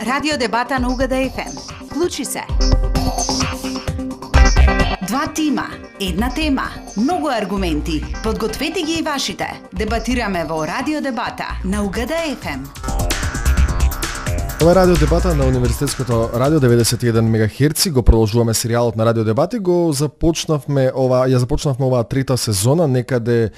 Радио дебата на УГД ФМ. Вклучи се. Два тима, една тема, многу аргументи. Подгответе ги и вашите. Дебатираме во Радио дебата на УГД ФМ. Ова е Радио дебата на Универзитетското радио 91 МГц. Го продолжуваме серијалот на Радио дебати. Ја започнавме оваа трета сезона некаде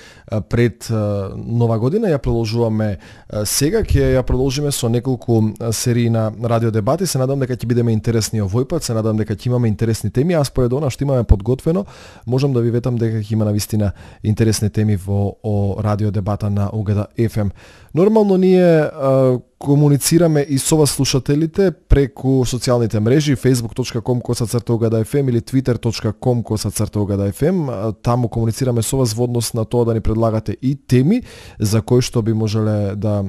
пред Нова година. Ја продолжуваме сега, ќе ја продолжиме со неколку серии на Радио дебати. Се надам дека ќе бидеме интересни овој пат, се надам дека ќе имаме интересни теми, а според она што имаме подготвено, можам да ви ветам дека ќе има навистина интересни теми во Радио дебата на УГД ФМ. Нормално ние комуницираме и со вас слушателите преку социјалните мрежи facebook.com/ugdfm или twitter.com/ugdfm. Таму комуницираме со вас во однос на тоа да ни предлагате и теми за кои што би можеле да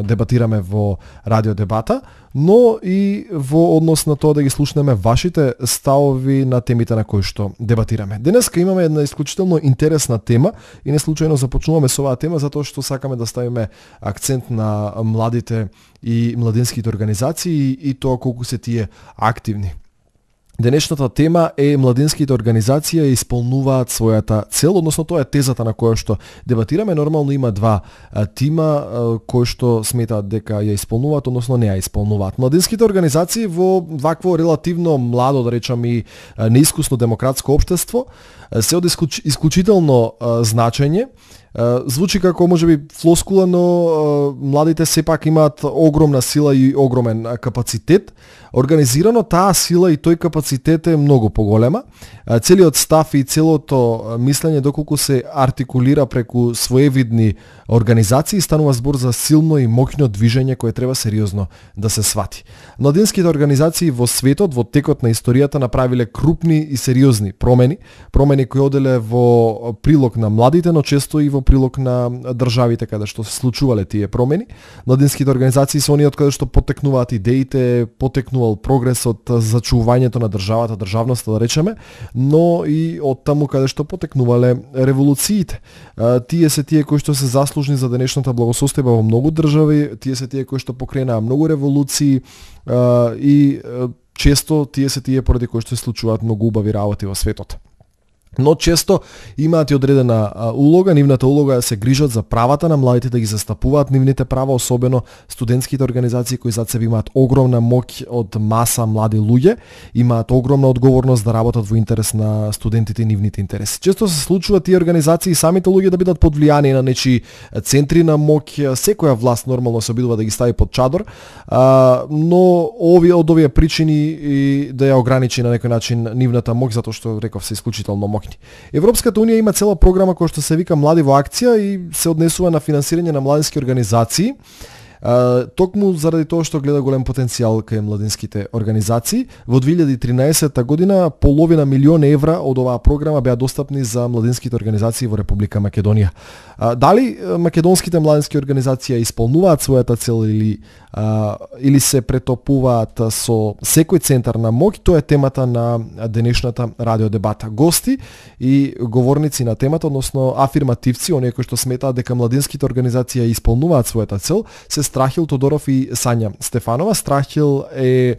дебатираме во Радио дебата, но и во однос на тоа да ги слушнеме вашите ставови на темите на кои што дебатираме. Денеска имаме една исклучително интересна тема и не случајно започнуваме со оваа тема затоа што сакаме да ставиме акцент на младите и младинските организации и тоа колку се тие активни. Денешната тема е младинските организации исполнуваат својата цел, односно тоа е тезата на која што дебатираме. Нормално има два тима кои што сметаат дека ја исполнуваат, односно не ја исполнуваат. Младинските организации во вакво релативно младо, да речам, и неискусно демократско општество се од исклучително значење. Звучи како можеби флоскула, но младите сепак имаат огромна сила и огромен капацитет. Организирано таа сила и тој капацитет е многу поголема. Целиот став и целото мислење доколку се артикулира преку своевидни организации, станува збор за силно и моќно движење кое треба сериозно да се свати. Младинските организации во светот во текот на историјата направиле крупни и сериозни промени кои оделе во прилог на младите, но често и во прилог на државите каде што се случувале тие промени. Младинските организации се оние од каде што потекнуваат идеите, потекнувал прогресот, зачувањето на државата, државноста да речеме, но и од таму каде што потекнувале револуциите. Тие се тие кои што се заслужни за денешната благосостојба во многу држави, тие се тие кои што покренаа многу револуции и често тие се тие поради кои што се случуваат многу убави работи во светот. Но често имаат и одредена улога, нивната улога е да се грижат за правата на младите, да ги застапуваат нивните права, особено студентските организации кои зад себе имаат огромна моќ од маса млади луѓе, имаат огромна одговорност да работат во интерес на студентите и нивните интереси. Често се случува тие организации и самите луѓе да бидат под влијание на нечии центри на моќ, секоја власт нормално се обидува да ги стави под чадор, но од овие причини и да ја ограничи на некој начин нивната моќ, затоа што реков се исклучително моќни. Европската унија има цела програма која што се вика Млади во акција и се однесува на финансирање на младински организации. Токму заради тоа што гледа голем потенцијал кај младинските организации. Во 2013 година половина милион евра од оваа програма беа достапни за младинските организации во Република Македонија. Дали македонските младински организации исполнуваат својата цел или се претопуваат со секој центар на моќ, тоа е темата на денешната радио дебата. Гости и говорници на темата, односно афирмативци, оние кои што сметаат дека младинските организации исполнуваат својата цел, се Страхил Тодоров и Сања Стефанова. Страхил е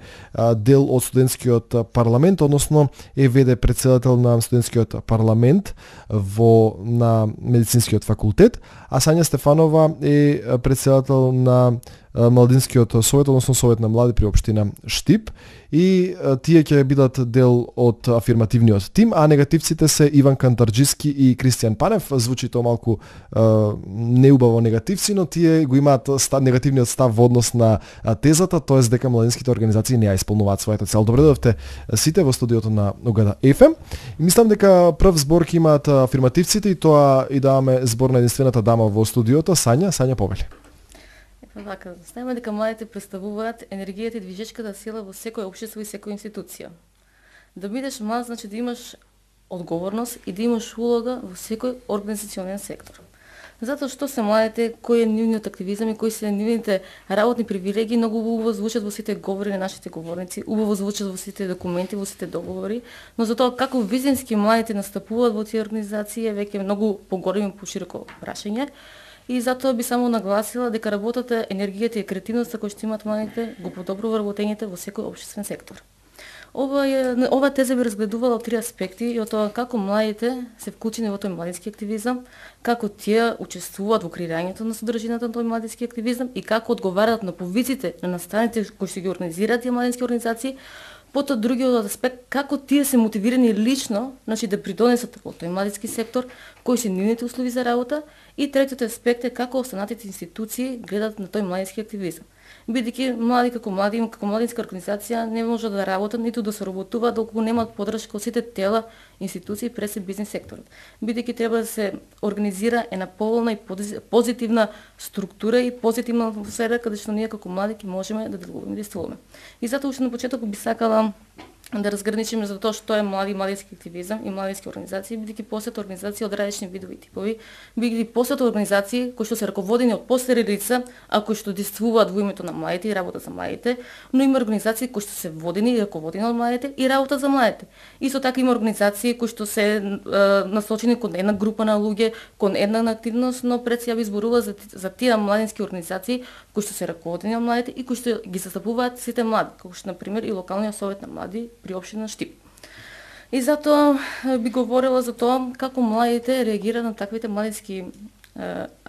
дел од студентскиот парламент, односно е ВД председател на студентскиот парламент на медицинскиот факултет, а Сања Стефанова е председател на Младинскиот совет, односно совет на млади при општина Штип, и тие ќе бидат дел од афирмативниот тим, а негативците се Иван Кантарџиски и Кристијан Панев. Звучи тоа малку неубаво негативци, но тие го имаат негативниот став во однос на тезата, тоест дека младинските организации не ја исполнуваат својата цел. Добре дојдовте сите во студиото на УГД ФМ. Мислам дека прв збор ќе имаат афирмативците и тоа и даваме збор на единствената дама во студиото, Сања повели. Вака, знаеме дека младите представуваат енергијата и движечката сила во секој општество и секоја институција. Да бидеш млад значи да имаш одговорност и да имаш улога во секој организационен сектор. Затоа што се младите, кој е нивниот активизам и кои се нивните работни привилегии, многу убаво звучат во сите говори на нашите говорници, убаво звучат во сите документи, во сите договори, но за тоа како визински младите настапуваат во тие организации е веќе многу поголемо и пошироко прашање. И затоа би само нагласила дека работата, енергијата и креативноста кои што имаат младите го подобрува вработењето во секој општествен сектор. Ова теза би разгледувала од три аспекти и од тоа како младите се вклучени во тој младински активизам, како тие учествуваат во креирањето на содржината на тој младински активизам и како одговараат на повиците на настаните кои што ги организираат тие младински организации. Потоа другиот аспект како тие се мотивирани лично, значи да придонесат во тој младински сектор, кои се нивните услови за работа, и третиот аспект е како останатите институции гледат на тој младински активизам. Бидејќи млади како младинска организација не може да работат ниту да се работува доколку немаат поддршка од сите тела, институции пред се бизнис секторот. Бидејќи треба да се организира една поволна и позитивна структура и позитивна атмосфера каде што ние како млади ќе можеме да делуваме и действуваме. И затоа уште на почеток би сакала да разграничиме за тоа што е младински активизам и младински организации, бидејќи постојат организации од различни видови типови, бидејќи постојат организации кои што се раководени од постари лица, а кои што действуваат во името на младите и работа за младите, но има организации кои што се водени и раководени од младите и работа за младите. Исто така има организации кои што се насочени кон една група на луѓе, кон една активност, но пред се ја би зборува за тие младински организации кои што се раководени од младите и кои што ги застапуваат сите млади, како што на пример и локалниот совет на млади при општина Штип. И затоа би говорила за тоа како младите реагираат на таквите младински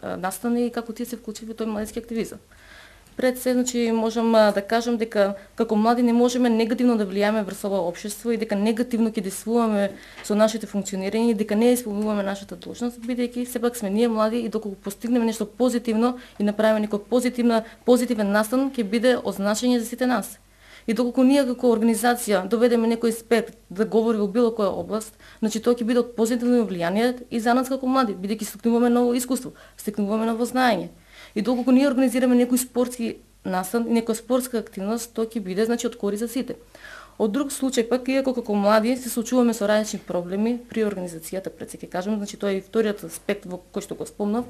настани и како тие се вклучени во тој младински активизам. Пред се, значи, можам да кажам дека како млади не можеме негативно да влијаме врз ова општество и дека негативно ќе действуваме со нашите функционирање и дека не исполнуваме нашата должност, бидејќи сепак сме ние млади и доколку постигнеме нешто позитивно и направиме некој позитивен настан, ќе биде од значење за сите нас. И доколку ние како организација доведеме некој експерт да говори во било која област, значи тоа ќе биде од позитивно влијание и за нас како млади, бидејќи стекнуваме ново искуство, стекнуваме ново знаење. И доколку ние организираме некој спортски настан и некоја спортска активност, тоа ќе биде значи од корист за сите. Од друг случај пак, иако како млади се соочуваме со различни проблеми при организацијата, пред се ќе кажам, значи тоа е и вториот аспект во кој што го спомнав,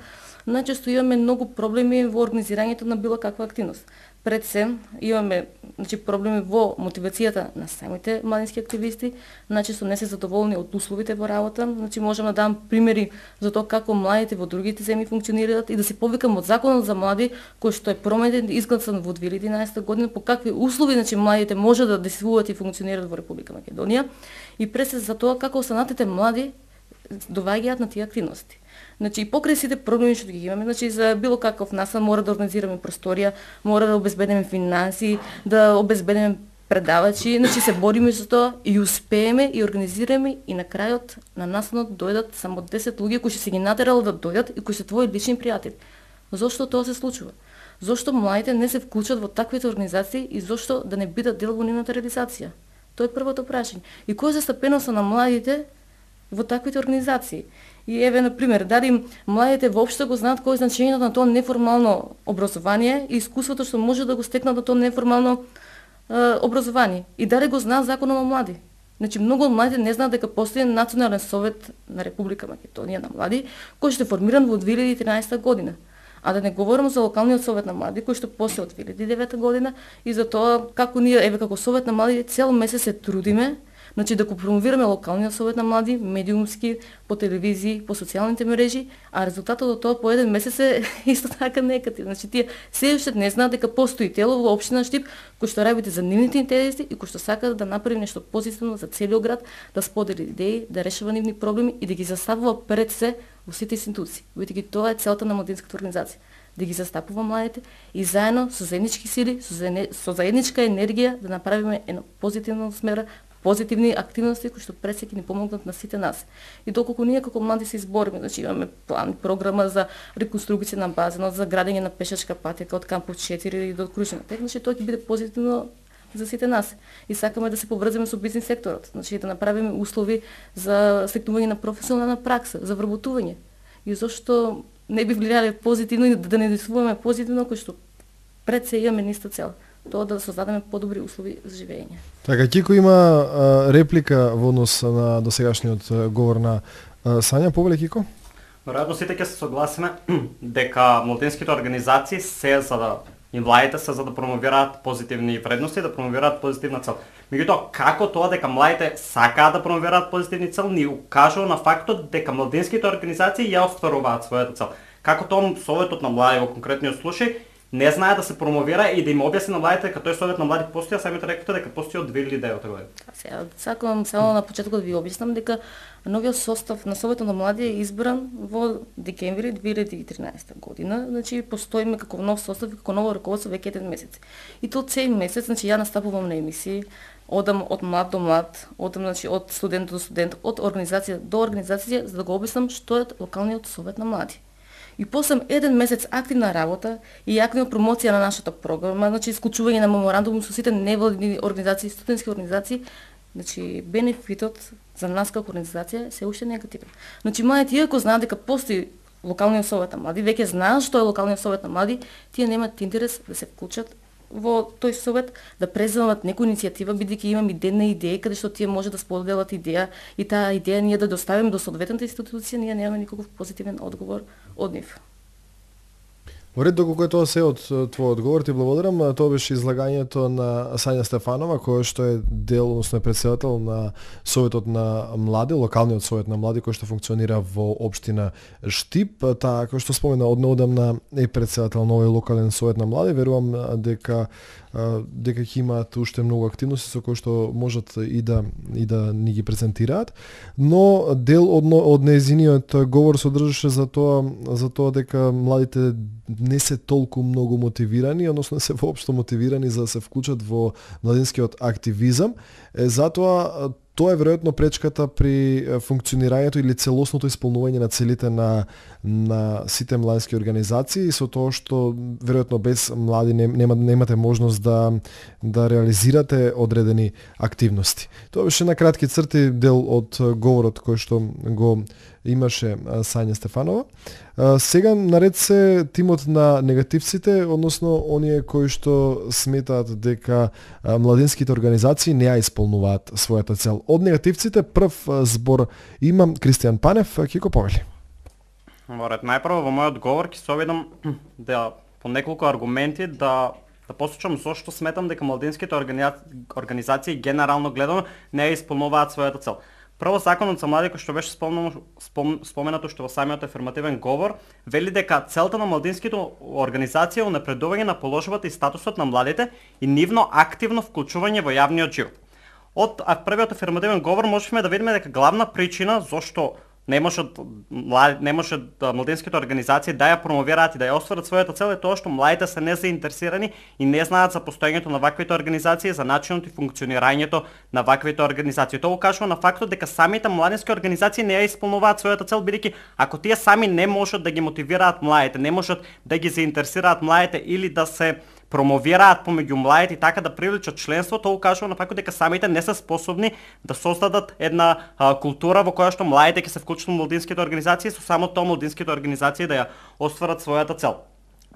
најчесто имаме многу проблеми во организирањето на било каква активност. Пред се имаме значи проблеми во мотивацијата на самите младински активисти, најчесто не се задоволни од условите во работа, значи можам да дам примери за тоа како младите во другите земји функционираат и да се повикам од законот за млади кој што е променет изгласан во 2011 година по какви услови значи младите може да действуваат и функционираат во Република Македонија и пред се за тоа како останатите млади доваѓаат на тие активности. Значи и покрај сите проблеми што ги имаме, значи за било каков настан мора да организираме просторија, мора да обезбедиме финансии, да обезбедиме предавачи, значи се бориме за тоа и успееме и организираме и на крајот на настанот дојдат само 10 луѓе кои се ги натерали да дојдат и кои се твои лични пријатели. Зошто тоа се случува? Зошто младите не се вклучат во таквите организации и зошто да не бидат дел во нивната реализација? Тоа е првото прашање. И кој е застапеноста на младите во таквите организации? И еве на пример, дали младите воопшто го знаат кој е значењето на тоа неформално образование и искуството што може да го стекнат на тоа неформално образование. И дали го знаат законот на млади. Значи многу од младите не знаат дека постои Национален совет на Република Македонија на млади, кој што е формиран во 2013 година. А да не говорам за локалниот совет на млади кој што постои од 2009 година и за тоа како ние еве како совет на млади цел месец се трудиме, значи да го промовираме локалниот совет на млади, медиумски, по телевизии, по социјалните мрежи, а резултатот од тоа по еден месец е исто така негативен. Значи тие се уште не знаат дека постои тело во општина Штип кој што работи за нивните интереси и кој што сака да направи нешто позитивно за целиот град, да сподели идеи, да решава нивни проблеми и да ги заставува пред се во сите институции. Бидејќи тоа е целта на младинската организација, да ги застапува младите и заедно со заеднички сили, со заедничка енергија да направиме една позитивна смера, позитивни активности кои што пред се ќе ни помогнат на сите нас. И доколку ние како млади се избориме, значи имаме план, програма за реконструкција на базенот, за градење на пешачка патека од кампус 4 до Крушина. Значи тоа ќе биде позитивно за сите нас. И сакаме да се поврземе со бизнис секторот, значи да направиме услови за стекнување на професионална пракса, за вработување. И зошто не би влијале позитивно и да не действуваме позитивно кој што пред се имаме ниста цел. Тоа да создадеме подобри услови за живење. Така, Кико има реплика во однос на досегашниот говор на Сања. Повеле, Кико? Веројатно сите ќе се согласиме дека младинските организации се за да и младите се за да промовираат позитивни вредности, да промовираат позитивна цел. Меѓутоа, како тоа дека младите сакаат да промовираат позитивни цел, ни укажува на фактот дека младинските организации ја остваруваат својата цел. како тоа Советот на млади во конкретниот случај не знае да се промовира и да им објасни на младите дека тој Совет на млади постои, а самите рекоте дека постои од 2009 година. Сега сакам само на почетокот да ви објаснам дека новиот состав на Советот на млади е избран во декември 2013 година. Значи постоиме како нов состав и како ново раководство веќе еден месец. И тоа цел месец, значи ја настапувам на емисии, одам од млад до млад, одам значи од студент до студент, од организација до организација за да го објаснам што е локалниот Совет на млади. И после еден месец активна работа и активна промоција на нашата програма, значи исклучување на меморандум со сите невладини организации, студентски организации, значи бенефитот за нас како организација се уште негативен. Значи младите иако знаат дека постои локалниот Совет на млади, веќе знаат што е локалниот Совет на млади, тие немаат интерес да се вклучат во тој совет, да преземат некоја иницијатива, бидејќи имам идејна идеја каде што тие може да споделат идеја и таа идеја ние да доставиме до соодветната институција, ние немаме никаков позитивен одговор од нив. Во ред, доколку е тоа се од твојот одговор, ти благодарам. Тоа беше излагањето на Сања Стефанова, која што е дел, односно е претседател на Советот на млади, локалниот Совет на млади, кој што функционира во општина Штип. Таа, кој што спомена, однеодамна е претседател на овој локален Совет на млади. Верувам дека ќе имаат уште многу активности со кои што можат и да ни ги презентираат, но дел од нејзиниот говор содржаше за тоа дека младите не се толку многу мотивирани, односно се воопшто мотивирани за да се вклучат во младинскиот активизам. Затоа тоа е веројатно пречката при функционирањето или целосното исполнување на целите на сите младински организации, со тоа што веројатно без млади немате можност да реализирате одредени активности. Тоа беше на кратки црти дел од говорот кој што го имаше Сања Стефанова. Сега наред се тимот на негативците, односно оние кои што сметаат дека младинските организации не ја исполнуваат својата цел. Од негативците прв збор имам Кристијан Панев, ќе го повели. Во ред, најпрво во мојот говор ќе се обидам да по неколку аргументи да посочам зошто сметам дека младинските организации генерално гледано не ја исполнуваат својата цел. Прво, законот за млади, кој што беше споменато што во самиот афирмативен говор, вели дека целта на младинските организации е унапредување на положбата и статусот на младите и нивно активно вклучување во јавниот живот. Од првиот афирмативен говор можеме да видиме дека главна причина зошто не можат младинските организации да ја промовираат и да ја остварат својата цел е тоа што младите се незаинтересирани и не знаат за постоењето на ваквите организации, за начинот и функционирањето на ваквите организации. Тоа укажува на фактот дека самите младински организации не ја исполнуваат својата цел, бидејќи ако тие сами не можат да ги мотивираат младите, не можат да ги заинтересираат младите или да се промовираат помеѓу младите и така да привлечат членство, тоа укажува на фактот дека самите не се способни да создадат една култура во која што младите ќе се вклучат во младинските организации, со само тоа младинските организации да ја остварат својата цел.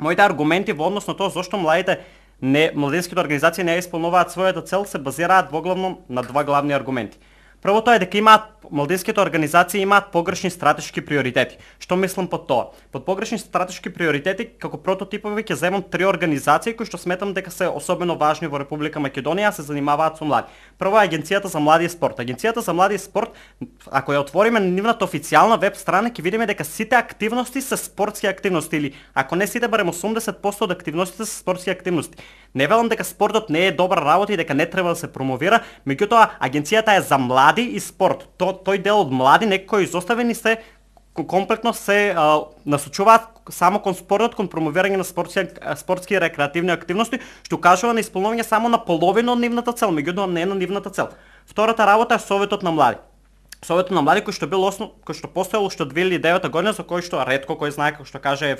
Моите аргументи во однос на тоа зошто младинските организации не ја исполнуваат својата цел се базираат воглавно на два главни аргументи. Првото е дека младинските организации имаат погрешни стратешки приоритети. Што мислам под тоа? Под погрешни стратешки приоритети, како прототипови ќе земам три организации кои што сметам дека се особено важни во Република Македонија, се занимаваат со млади. Прво е Агенцијата за млади и спорт. Агенцијата за млади и спорт, ако ја отвориме на нивната официјална веб страна, ќе видиме дека сите активности се спортски активности или ако не сите, барем 80% од активностите се спортски активности. Не велам дека спортот не е добра работа и дека не треба да се промовира, меѓутоа агенцијата е за млади и спорт. Тој дел од млади некои изоставени се комплетно се насочуваат само кон спортот, кон промовирање на спортски и рекреативни активности, што кажува на исполнување само на половина од нивната цел, меѓутоа не на нивната цел. Втората работа е Советот на млади. Советот на млади кој што постоел уште од 2009 година, за кој што ретко кој знае како што каже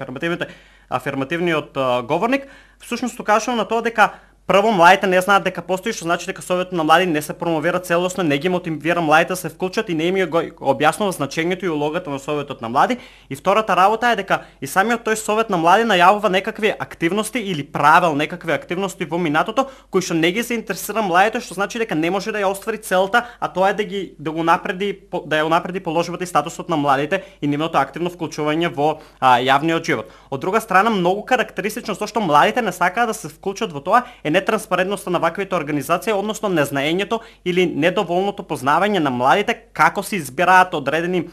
афирмативниот говорник, всушност укажува на тоа дека прво младите не знаат дека постои, што значи дека Советот на млади не се промовира целосно, не ги мотивира младите да се вклучат и не им го објаснува значењето и улогата на Советот на млади. И втората работа е дека и самиот тој Совет на млади најавува некакви активности или правел некакви активности во минатото кои што не ги се интересира младите, што значи дека не може да ја оствари целта, а тоа е да ја унапреди положбата и статусот на младите и нивното активно вклучување во јавниот живот. Од друга страна, многу карактеристично зашто младите не сакаат да се вклучат во тоа е нетранспарентноста на ваквите организации, односно незнаењето или недоволното познавање на младите како се избираат одредени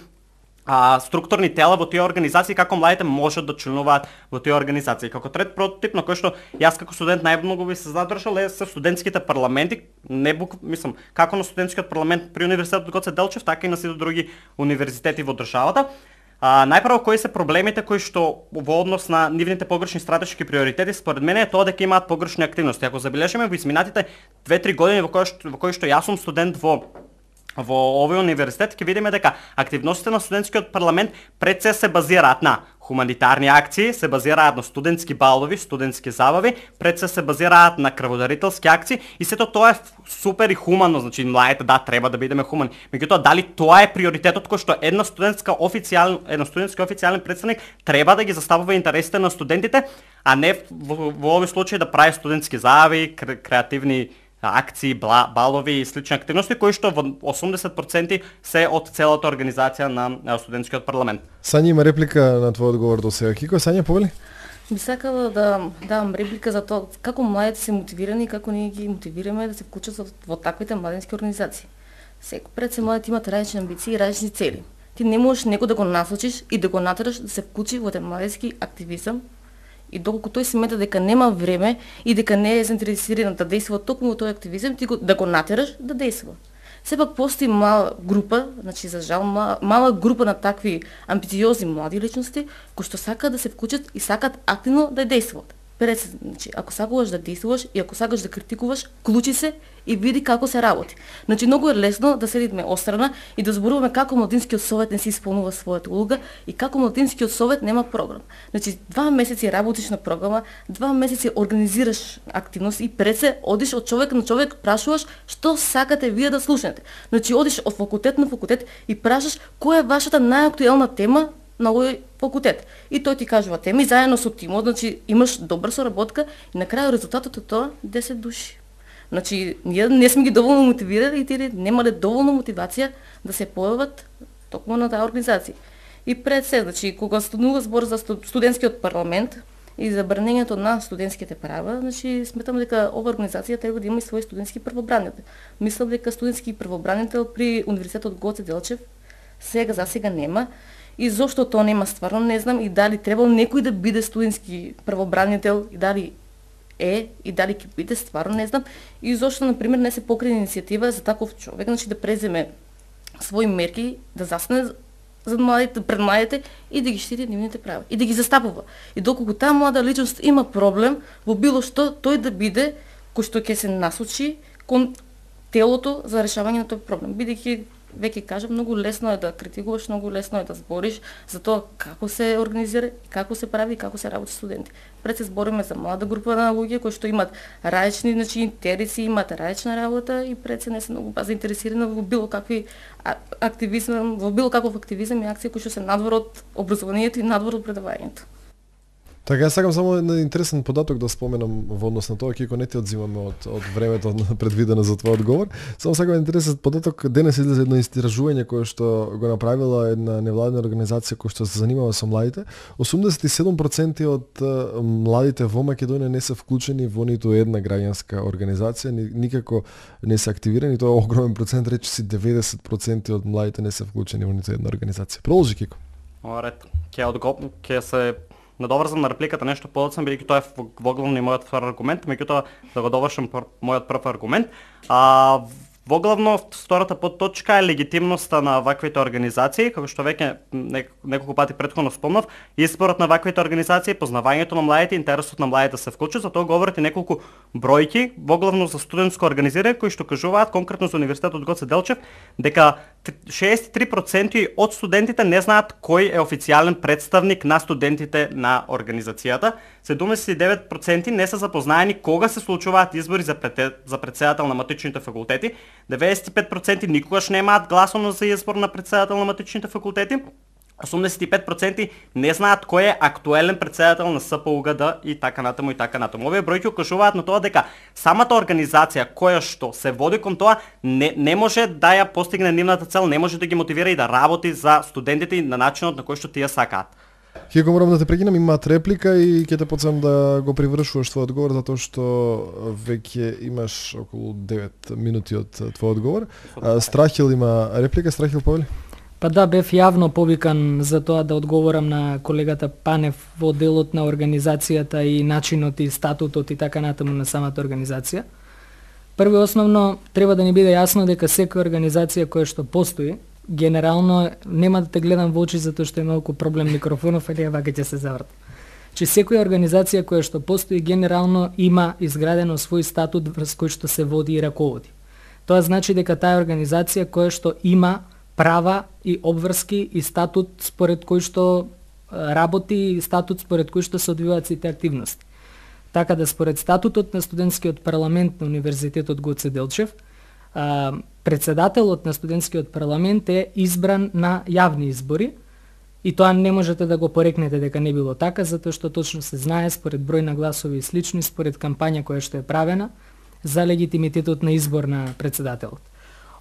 структурни тела во тие организации, како младите можат да членуваат во тие организации. Како трет прототип на кој што јас како студент најмногу би се задржал е со студентските парламенти, мислам, како на студентскиот парламент при Универзитетот Гоце Делчев, така и на сите други универзитети во државата. Најпрво, кои се проблемите кои што во однос на нивните погрешни стратешки приоритети, според мене е тоа дека имаат погрешни активности. Ако забележиме во изминатите 2-3 години во кои што јас сум студент во овој универзитет, ќе видиме дека активностите на студентскиот парламент пред се базираат на хуманитарни акции, се базираат на студентски балови, студентски забави, пред се базираат на крводарителски акции и сето тоа е супер и хумано, значи младите треба да бидеме хумани. Меѓутоа дали тоа е приоритетот кој што еден студентски официјален представник треба да ги заставува интересите на студентите, а не во овој случај да прави студентски забави, креативни акции, балови и слични активности кои што во 80% се од целата организација на студентскиот парламент. Сања има реплика на твојот одговор до сега. Кико, Сања, повели? Би сакала да дам реплика за тоа како младите се мотивирани и како ние ги мотивираме да се вклучат во таквите младински организации. Секој пред се младите имат различни амбиции и различни цели. Ти не можеш некој да го насочиш и да го натераш да се вклучи во младински активизам. И доколку тој смета дека нема време и дека не е заинтересиран да действува токму во тој активизам, ти да го натераш да действува. Сепак постои мала група, значи за жал мала група на такви амбициозни млади личности кои што сакаат да се вклучат и сакаат активно да действуваат. Значи, ако сакуваш да действуваш и ако сакаш да критикуваш, вклучи се и види како се работи. Значи, многу е лесно да седиме острана и да зборуваме како Младинскиот совет не си исполнува својата улога и како Младинскиот совет нема програм. Значи, 2 месеци работиш на програма, 2 месеци организираш активност и пред се одиш од човек на човек, прашуваш што сакате вие да слушнете. Значи, одиш од факултет на факултет и прашаш која е вашата најактуелна тема на овој факултет. И тој ти кажува теми заедно со тимот, значи имаш добра соработка и на крај резултатот од тоа 10 души. Значи ние не сме ги доволно мотивирали и тие немале доволно мотивација да се појават токму на таа организација. И пред се, значи кога станува збор за студентскиот парламент и за брането на студентските права, значи сметам дека ова организација треба да има и свој студентски првобранител. Мислам дека студентски првобранител при Универзитетот Гоце Делчев за сега нема. И зошто тоа нема, стварно не знам, и дали требало некој да биде студентски првобранител, и дали е, и дали ќе биде, стварно не знам, и зошто, например, не се покрene иницијатива за таков човек, значи да преземе своји мерки, да застане за младите, пред младите и да ги штити нивните права, и да ги застапува. И доколку таа млада личност има проблем во било што, тој да биде кој што ќе се насочи кон телото за решавање на тој проблем, бидејќи веќе кажам, многу лесно е да критикуваш, многу лесно е да збориш за тоа како се организира, како се прави и како се работи студенти. Пред се збориме за млада група на луѓе кои што имат различни интереси, имат различна работа и пред се не се многу заинтересирани во било какви активизам, во било каков активизам и акции кои што се надвор од образованието и надвор од предавањето. Така, јас сакам само еден интересен податок да споменам во однос на тоа, кико не ти одзимаме од времето предвидено за твој одговор. Само сакам интересен податок, денес излезе едно истражување кое што го направила една невладина организација која што се занимава со младите. 87% од младите во Македонија не се вклучени во ниту една граѓанска организација, никако не се активирани, тоа е огромен процент, речиси 90% од младите не се вклучени во ниту една организација. Продолжи, Кико. Оред, ќе се надоврзам на репликата нешто подоцна, бидејќи тоа е во главно и мојот втор аргумент, меѓутоа да го довршам мојот прв аргумент. Во главно втората подточка е легитимноста на ваквите организации, како што веќе неколку пати претходно спомнав, изборот на ваквите организации, познавањето на младите, интересот на младите да се вклучат, за тоа говорите неколку бројки, во главно за студентско организирање, кои што кажуваат конкретно за Универзитетот Гоце Делчев дека 63% од студентите не знаат кој е официјален представник на студентите на организацијата. 79% не се запознаени кога се случуваат избори за претседател на матичните факултети. 95% никогаш немаат гласовно за избор на претседател на матичните факултети. 85% не знаат кој е актуелен претседател на СПУГД и така натаму и така натаму. Овие бројки укажуваат на тоа дека самата организација која што се води кон тоа не може да ја постигне нивната цел, не може да ги мотивира и да работи за студентите на начинот на кој што тие сакаат. Хико, морам да те прекинам, имаат реплика и ќе те потсам да го привршуваш твој одговор, затоа што веќе имаш околу 9 минути од твој одговор. Страхил има реплика, Страхил, повели? Па да, бев јавно повикан за тоа да одговорам на колегата Панев во делот на организацијата и начинот и статутот и така натаму на самата организација. Прво и основно треба да ни биде јасно дека секоја организација која што постои, генерално нема да те гледам во очи затоа што е малку проблем микрофонов, или вака ќе се заврт. Че секоја организација која што постои генерално има изградено свој статут врз кој што се води и раководи. Тоа значи дека таа организација која што има права и обврски и статут според кој што работи и статут според кој што се одвиваат сите активности. Така да според статутот на студентскиот парламент на Универзитетот Гоце Делчев, председателот на студентскиот парламент е избран на јавни избори и тоа не можете да го порекнете дека не било така, затоа што точно се знае според број на гласови и слични, според кампања која што е правена за легитимитетот на избор на председателот.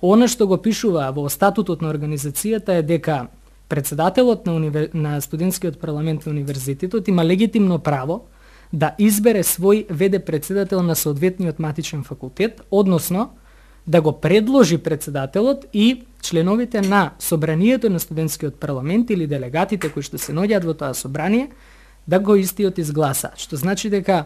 Она што го пишува во статутот на организацијата е дека председателот на студентскиот парламент на универзитетот има легитимно право да избере свој ВД председател на соодветниот матичен факултет, односно да го предложи председателот и членовите на собранието на студентскиот парламент или делегатите кои што се наоѓаат во тоа собрание да го истиот изгласа. Што значи дека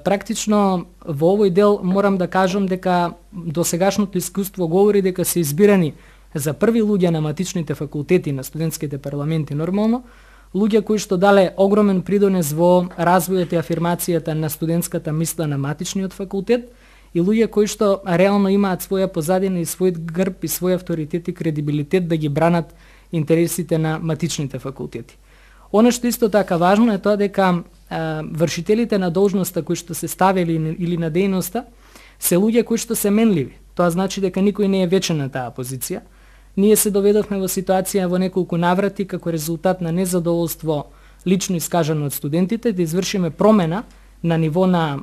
практично во овој дел морам да кажам дека досегашното искуство говори дека се избирани за први луѓе на матичните факултети на студентските парламенти нормално, луѓе кои што дале огромен придонес во развојот и афирмацијата на студентската мисла на матичниот факултет и луѓе кои што реално имаат своја позадина и свој грб и свој авторитет и кредибилитет да ги бранат интересите на матичните факултети. Оно што исто така важно е тоа дека вршителите на должноста кои што се ставили или на дејноста се луѓе кои што се менливи. Тоа значи дека никој не е вечен на таа позиција. Ние се доведовме во ситуација во неколку наврати како резултат на незадоволство лично искажано од студентите да извршиме промена на ниво на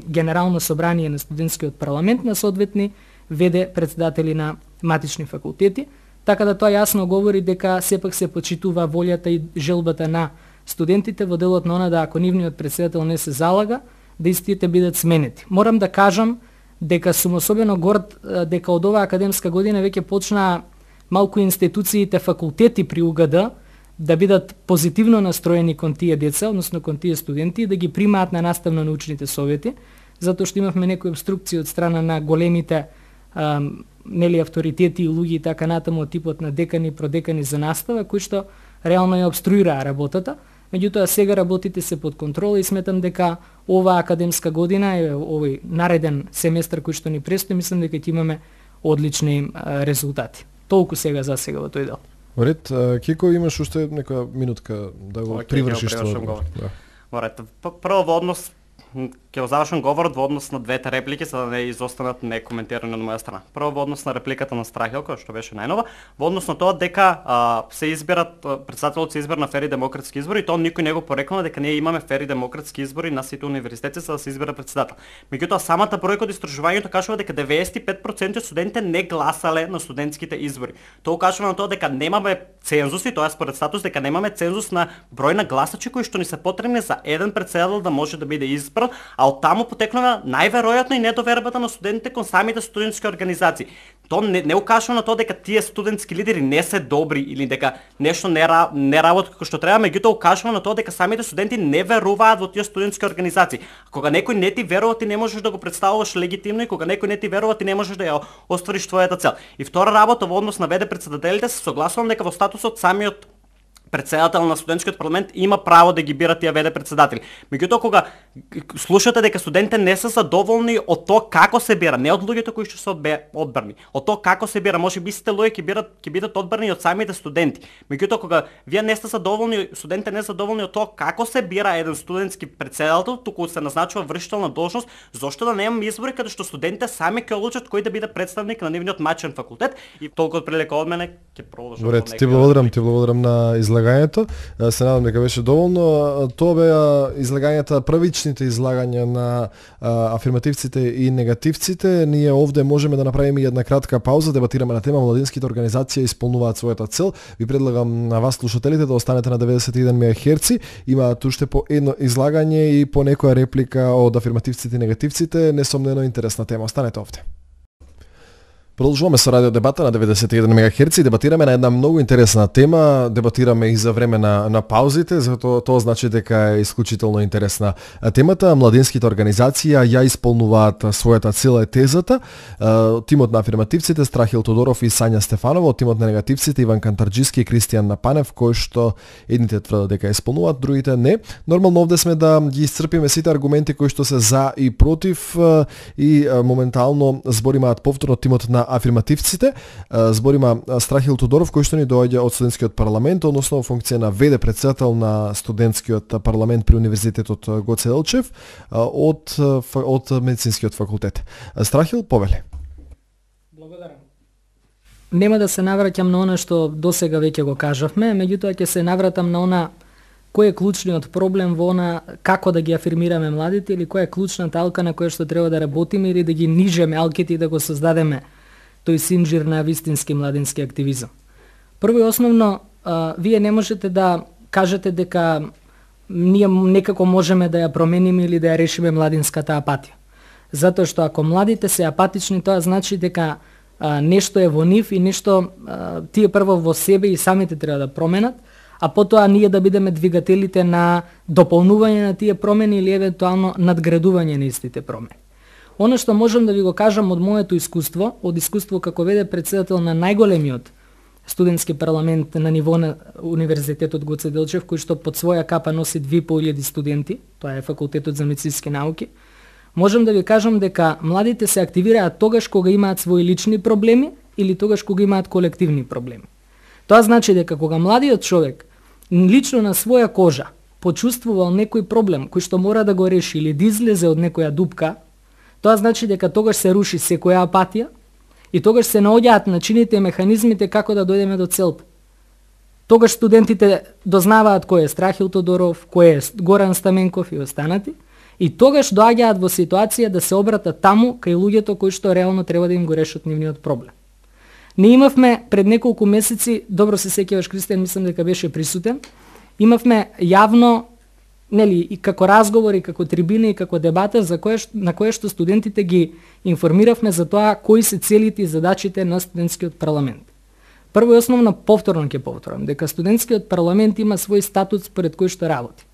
генерално собрание на студентскиот парламент на соодветни ВД председатели на матични факултети, така да тоа јасно говори дека сепак се почитува волјата и желбата на студентите во делот на она да ако нивниот председател не се залага, да истите бидат сменети. Морам да кажам дека сум особено горд дека од оваа академска година веќе почнаа малку институциите, факултети при УГД да бидат позитивно настроени кон тие деца, односно кон тие студенти, да ги примаат на наставно-научните совети, затоа што имавме некои обструкции од страна на големите авторитети и луѓе и така натаму од типот на декани, продекани за настава, кои што реално ја обструираа работата. Меѓутоа сега работите се под контрола и сметам дека оваа академска година е овој нареден семестар кој што ни престои, мислам дека ќе имаме одлични резултати. Толку сега за сега во тој дел. Ред, Кико, имаш уште некоја минутка да го привршиш тоа. Оред, прво во однос ќе завршам говорот во однос на двете реплики за да не изостанат некоментирани од моја страна. Прво во однос на репликата на Страхил, која што беше најнова, во однос на тоа дека се избират председателот се избира на фери демократски избори, тоа никој не го порекнува дека ние имаме фери демократски избори на сите универзитети за да се избира председател. Меѓутоа самата бројка од истражувањето кажува дека 95% од студентите не гласале на студентските избори. Тоа укажува на тоа дека немаме цензуси, тоа е според статус дека немаме цензус на број на гласачи кои што ни се потребни за еден председател да може да биде избран, а од таму потекнува најверојатно и недовербата на студентите кон самите студентски организации. Тоа не укажува на тоа дека тие студентски лидери не се добри или дека нешто не работи како што треба, меѓутоа укажува на тоа дека самите студенти не веруваат во тие студентски организации. Кога некој не ти верува, ти не можеш да го представуваш легитимно и кога некој не ти верува, ти не можеш да ја оствариш твојата цел. И втора работа во однос на ВД председателите се согласувам дека во статусот самиот председател на студентскиот парламент има право да ги бира тие ВД председатели. Меѓутоа кога слушате дека студентите не се задоволни од тоа како се бира, не од луѓето кои што се одбрани, од тоа како се бира, можеби сите луѓе ќе бидат одбрани од самите студенти. Меѓутоа кога вие не сте задоволни, студентите не се задоволни од тоа како се бира еден студентски председател, туку се назначува вршител на должност, зошто да немаме избори каде што студентите сами ќе одлучат кој да биде представник на нивниот матичен факултет и толку од прилика од мене ќе продолжам. Добре, ти благодарам на излагањето. Се надам дека беше доволно. Тоа беа излагањата, првичните излагања на афирмативците и негативците. Ние овде можеме да направиме една кратка пауза, дебатираме на тема младинските организации исполнуваат својата цел. Ви предлагам на вас слушателите да останете на 91 МГц. Имаат уште по едно излагање и по некоја реплика од афирмативците и негативците. Несомнено интересна тема. Останете овде. Продолжуваме со радио дебата на 91 МГц и дебатираме на една многу интересна тема, дебатираме и за време на паузите, затоа тоа значи дека е исклучително интересна темата. Младинските организации ја исполнуваат својата цела, е тезата. Тимот на афирмативците Страхил Тодоров и Сања Стефанова, тимот на негативците Иван Кантарџиски и Кристијан Напанев, кои што едните тврдат дека исполнуваат, другите не. Нормално овде сме да ги исцрпиме сите аргументи кои што се за и против и моментално зборимаат повторно тимот на афирмативците. Зборима Страхил Тодоров, кој што ни доаѓа од студентскиот парламент, односно во функција на ВД председател на студентскиот парламент при Универзитетот Гоце Делчев од медицинскиот факултет. Страхил, повели. Благодарам. Нема да се навраќам на она што досега веќе го кажавме, меѓутоа ќе се навратам на она кој е клучниот проблем во она како да ги афирмираме младите или која е клучната алка на која што треба да работиме или да ги нижеме алките и да го создадеме тој синџир на вистински младински активизам. Прво и основно, вие не можете да кажете дека ние некако можеме да ја промениме или да ја решиме младинската апатија. Затоа што ако младите се апатични, тоа значи дека нешто е во нив и нешто тие прво во себе и самите треба да променат, а потоа ние да бидеме двигателите на дополнување на тие промени или евентуално надградување на истите промени. Оно што можам да ви го кажам од моето искуство, од искуство како ВД председател на најголемиот студентски парламент на ниво на Универзитетот Гоце Делчев, кој што под своја капа носи 2500 студенти, тоа е факултетот за медицински науки, можам да ви кажам дека младите се активираат тогаш кога имаат своји лични проблеми или тогаш кога имаат колективни проблеми. Тоа значи дека кога младиот човек лично на своја кожа почувствувал некој проблем кој што мора да го реши или да излезе од некоја дупка, тоа значи дека тогаш се руши секоја апатија и тогаш се наоѓаат начините и механизмите како да дојдеме до целта. Тогаш студентите дознаваат кој е Страхил Тодоров, кој е Горан Стаменков и останати, и тогаш доаѓаат во ситуација да се обратат таму кај луѓето кои што реално треба да им го решат нивниот проблем. Не имавме пред неколку месеци, добро се сеќаваш Кристијан, мислам дека беше присутен, имавме јавно и како разговори, како трибина и како дебата на која што студентите ги информиравме за тоа кои се целите и задачите на студентскиот парламент. Прво и основно повторно ќе повторам дека студентскиот парламент има свој статут според кој што работи.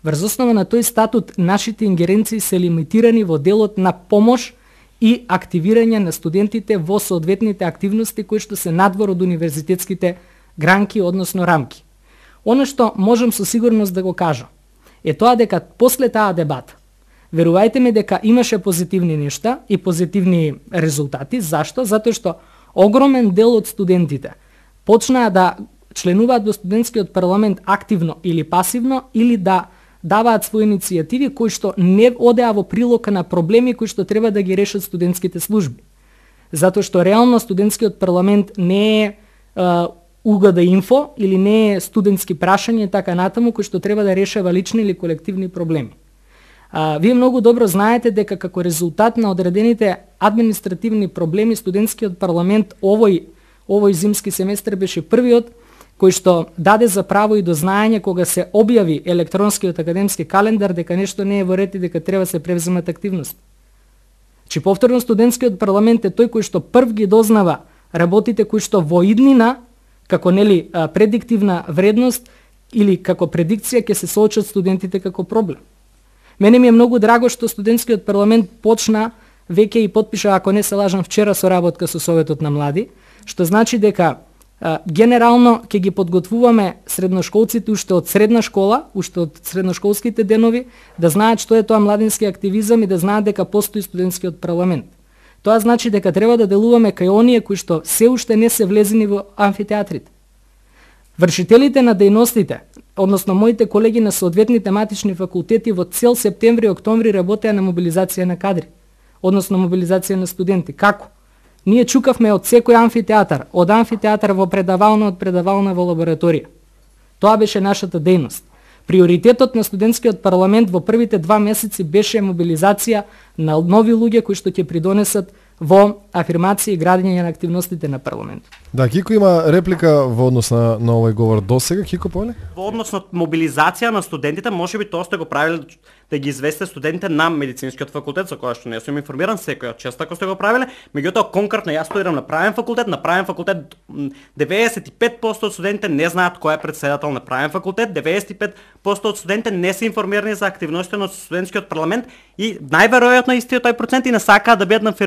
Врз основа на тој статут нашите ингеренции се лимитирани во делот на помош и активирање на студентите во соодветните активности кои што се надвор од универзитетските гранки, односно рамки. Оно што можам со сигурност да го кажам е тоа дека после таа дебата, верувајте ми дека имаше позитивни нешта и позитивни резултати. Зашто? Затоа што огромен дел од студентите почнаа да членуваат во студентскиот парламент активно или пасивно, или да даваат своји иницијативи кои што не одеа во прилог на проблеми кои што треба да ги решат студентските служби. Затоа што реално студентскиот парламент не е УГД инфо или не е студентски прашања и така натаму кои што треба да решава лични или колективни проблеми. Вие многу добро знаете дека како резултат на одредените административни проблеми студентскиот парламент овој зимски семестар беше првиот кој што даде за право и до знаење кога се објави електронскиот академски календар дека нешто не е во ред и дека треба се превземат активности. Че повторно студентскиот парламент е тој кој што прв ги дознава работите кои што во иднина како предиктивна вредност или како предикција ќе се соочат студентите како проблем. Мене ми е многу драго што студентскиот парламент почна веќе и потпиша, ако не се лажам, вчера соработка со Советот на млади, што значи дека генерално ќе ги подготвуваме средношколците уште од средна школа, уште од средношколските денови, да знаат што е тоа младински активизам и да знаат дека постои студентскиот парламент. Тоа значи дека треба да делуваме кај оние кои што се уште не се влезени во амфитеатрите. Вршителите на дејностите, односно моите колеги на соодветни тематични факултети во цел септември и октомври работеа на мобилизација на кадри, односно мобилизација на студенти. Како? Ние чукавме од секој амфитеатар, од амфитеатар во предавална, од предавална во лабораторија. Тоа беше нашата дејност. Приоритетот на студентскиот парламент во првите 2 месеци беше мобилизација на нови луѓе кои што ќе придонесат во афирмација и градење на активностите на парламентот. Да, Кико има реплика во однос на овој говор досега. Кико, поле? Во однос на мобилизација на студентите, можеби тоа сте го правиле да ги известе студентите на медицинскиот факултет, за која што не сум информиран, секој чест ако сте го правиле, меѓутоа конкретно јас студирам на правен факултет, 95% од студентите не знаат кој е претседател на правен факултет, 95% од студентите не се информирани за активностите на студентскиот парламент и најверојатно истиот тој процент и не сакаат да бидат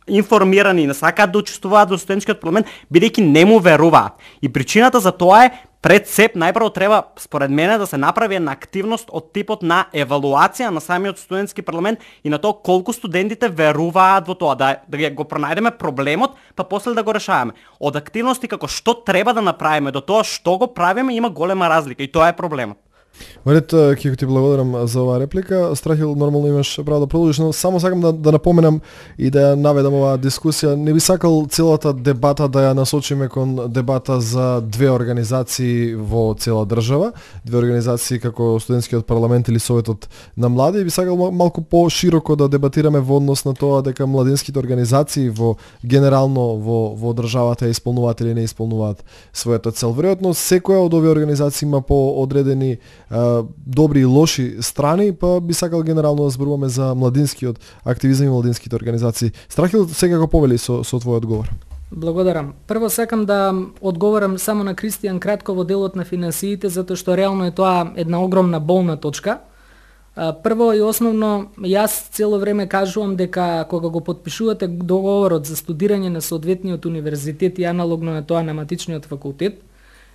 информирани, не сакаат да учествуваат во студентскиот парламент, бидејќи не му веруваат. И причината за тоа е пред сеп најпрво треба според мене да се направи една активност од типот на евалуација на самиот студентски парламент и на тоа колку студентите веруваат во тоа, да го пронајдеме проблемот, па после да го решаваме. Од активности како што треба да направиме до тоа што го правиме има голема разлика и тоа е проблемот. Марет, Кико, ти благодарам за оваа реплика. Страхил, нормално имаш право да продолжиш, но само сакам да напоменам и да ја наведам оваа дискусија. Не би сакал целата дебата да ја насочиме кон дебата за две организации во цела држава, две организации како студентскиот парламент или советот на млади. Би сакал малку по-широко да дебатираме во однос на тоа дека младинските организации во генерално во државата ја исполнуваат или не исполнуваат својата цел. Веројатно секоја од овие организации има поодредени добри и лоши страни, па би сакал генерално да зборуваме за младинскиот активизам и младинските организации. Страхил, секако повели со твој одговор. Благодарам. Прво сакам да одговорам само на Кристијан кратко во делот на финансиите, затоа што реално е тоа една огромна болна точка. Прво и основно, јас цело време кажувам дека кога го подпишувате договорот за студирање на соодветниот универзитет и аналогно на тоа на матичниот факултет,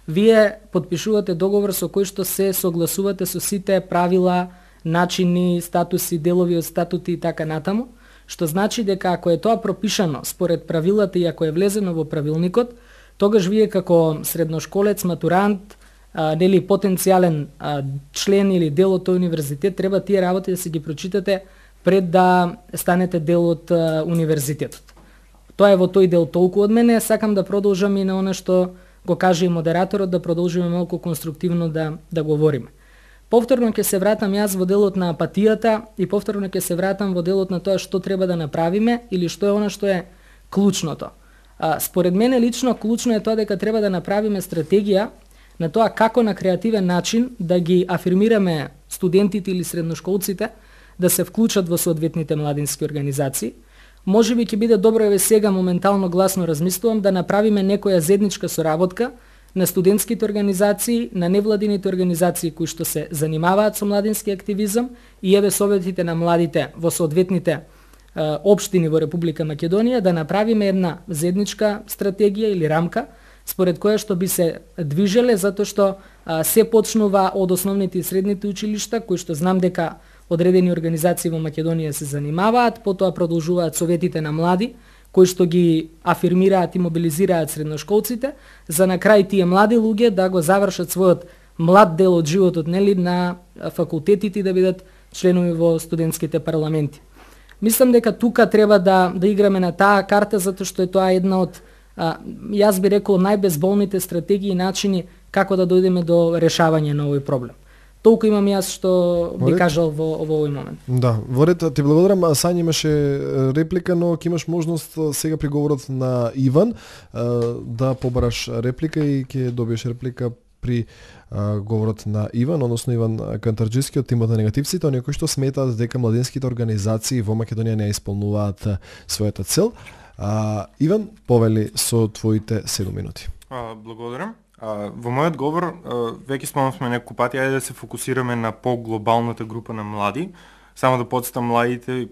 вие подпишувате договор со кој што се согласувате со сите правила, начини, статуси, делови од статути и така натаму, што значи дека ако е тоа пропишано според правилата и ако е влезено во правилникот, тогаш вие како средношколец, матурант, нели потенцијален член или дел од тој универзитет, треба тие работи да се ги прочитате пред да станете дел од универзитетот. Тоа е во тој дел толку од мене, сакам да продолжам и на оно што го каже и модераторот, да продолжиме малку конструктивно да говориме. Повторно ќе се вратам јас во делот на апатијата и повторно ќе се вратам во делот на тоа што треба да направиме или што е она што е клучното. Според мене лично клучно е тоа дека треба да направиме стратегија на тоа како на креативен начин да ги афирмираме студентите или средношколците да се вклучат во соодветните младински организации. Може би ќе биде добро, еве сега моментално гласно размислувам, да направиме некоја заедничка соработка на студентските организации, на невладините организации кои што се занимаваат со младински активизам и еве советите на младите во соодветните општини во Република Македонија, да направиме една заедничка стратегија или рамка според која што би се движеле, затоа што се почнува од основните и средните училишта, кои што знам дека одредени организации во Македонија се занимаваат, потоа продолжуваат советите на млади, кои што ги афирмираат и мобилизираат средношколците, за на крај тие млади луѓе да го завршат својот млад дел од животот, нели, на факултетите и да бидат членови во студентските парламенти. Мислам дека тука треба да играме на таа карта, затоа што е тоа една од, јас би рекол, најбезболните стратегии и начини како да дојдеме до решавање на овој проблем. Толку имам јас што би кажал во овој момент. Да, Ворет, ти благодарам. Сања имаше реплика, но ќе имаш можност сега при говорот на Иван да побараш реплика и ќе добиеш реплика при говорот на Иван, односно Иван Кантарџиски од тимот на негативците, оние кои што сметаат дека младинските организации во Македонија не исполнуваат својата цел. Иван, повели со твоите 7 минути. Благодарам. Во мојот говор, веќе спомнавме неколку пати, ајде да се фокусираме на поглобалната група на млади. Само да подсетам, младите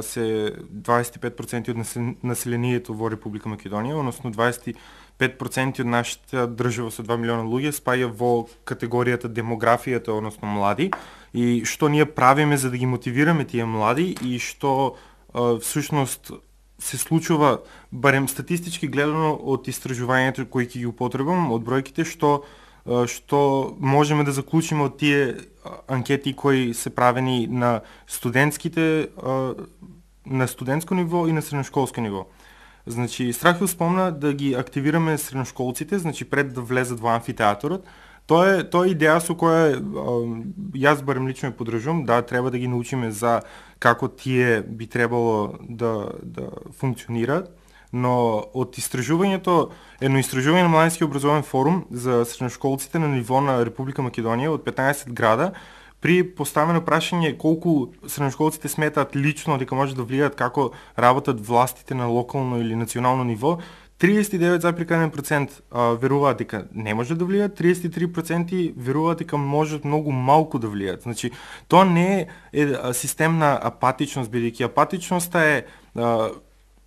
се 25% од населението во Република Македонија, односно 25% од нашата држава со 2 милиона луѓе спаја во категоријата демографијата, односно млади. И што ние правиме за да ги мотивираме тие млади и што всушност се случува, барем статистички гледано од истражувањето кои ќе ги употребам, од бројките што можеме да заклучиме од тие анкети кои се правени на студентските, на студентско ниво и на средношколско ниво. Значи, Страхил спомна да ги активираме средношколците, значи пред да влезат во амфитеаторот. Тоа е идеја со која јас барем лично ја поддржувам, да треба да ги научиме за како тие би требало да функционираат, но од истражувањето, едно истражување на Младински образовен форум за средношколците на ниво на Република Македонија од 15 града при поставено прашање колку средношколците сметаат лично дека може да влијаат како работат властите на локално или национално ниво, 39,1% веруваат дека не може да влијаат, 33% веруваат дека можат многу малку да влијаат. Значи, тоа не е систем на апатичност, бидејќи апатичноста е